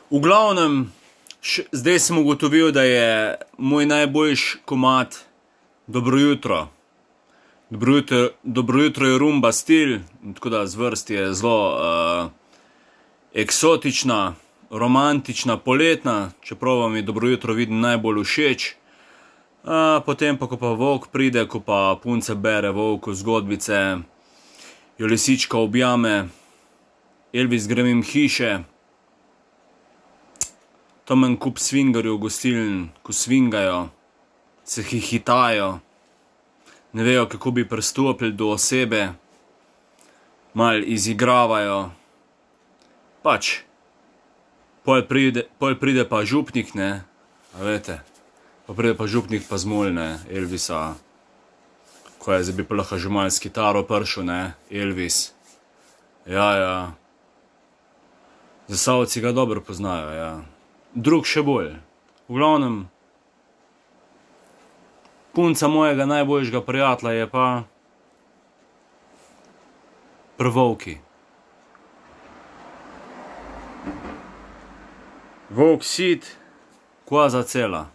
V glavnem, zdaj sem ugotovil, da je moj najboljši komad Dobro jutro. Dobro jutro je rumba stil, tako da zvrst je zelo eksotična, romantična, poletna, čeprav vam je Dobro jutro vidim najbolj všeč. Potem pa, ko pa volk pride, ko pa punce bere volku zgodbice, jo lisička objame, Elvis gre mimo hiše, tam en kup svingarjev gostiln, ko svingajo, se hihitajo, ne vejo, kako bi pristopili do osebe, malo izigravajo, pač, pol pride pa župnik, ne, a veste, pa pride pa župnik pa zmoli, ne, Elvisa, ko je, zdaj bi pa lahko že malo s kitaro prišel, ne, Elvis, ja, Zasavci ga dobro poznajo, ja, drug še bolj, v glavnem, punca mojega najboljšega prijatelja je pa pri volki. Volk sit, koza cela.